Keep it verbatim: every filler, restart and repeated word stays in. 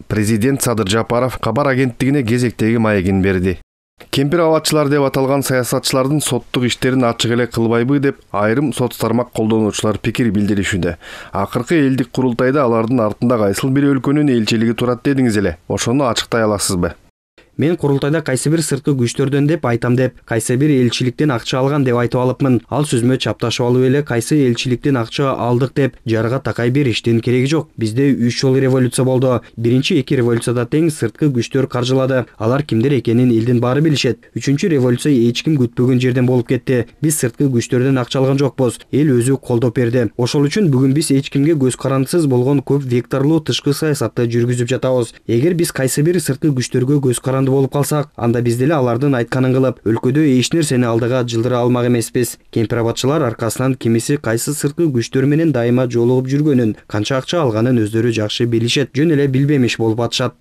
Президент Садыр Жапаров кабар агенттигине кезектеги маегин берди. Кемпир абадчылар деп аталган саясатчылардын соттук иштерин ачык эле кылбайбы деп айрым сот тармак колдонуучулар пикир билдиришүүдө. Акыркы элдик курултайда алардын артында кайсыл бир өлкөнүн элчилиги турат дедиңиз эле. Ошону ачыктай аласызбы? Мен курултайда кайсы бир сырткы күчтөрдөн деп айтам деп, кайсы бир элчиликтен акча алган деп айтып алыпмын. Ал сөзмө чапташып алып эле кайсы элчиликтен акча алдык деп жарга такай бериштин кереги жок. Бизде үч жолу революция болду. Биринчи эки революцияда тең сырткы күчтөр каржылады. Алар кимдер экенин элдин баары билишет. Үчүнчү революция эч ким күтпөгөн жерден болуп кетти. Биз сырткы күчтөрдөн акча алган жокпуз. Эл өзү колдоп берди. Ошол үчүн бүгүн биз эч кимге көз карандысыз болгон көп векторлуу тышкы саясатты жүргүзүп жатабыз. Эгер биз кайсы бир сырткы күчтөргө көз каранды болуп калсак, анда биз деле алардын айтканын кылып, өлкөдө эч нерсени алдыга жылдыра алмак эмеспиз. Кемпир абадчылар аркасынан кимиси кайсы сырткы күчтөр менен дайыма жолугуп жүргөнүн, канча акча алганын өздөрү жакшы билишет, жөн эле билбемиш болуп атышат.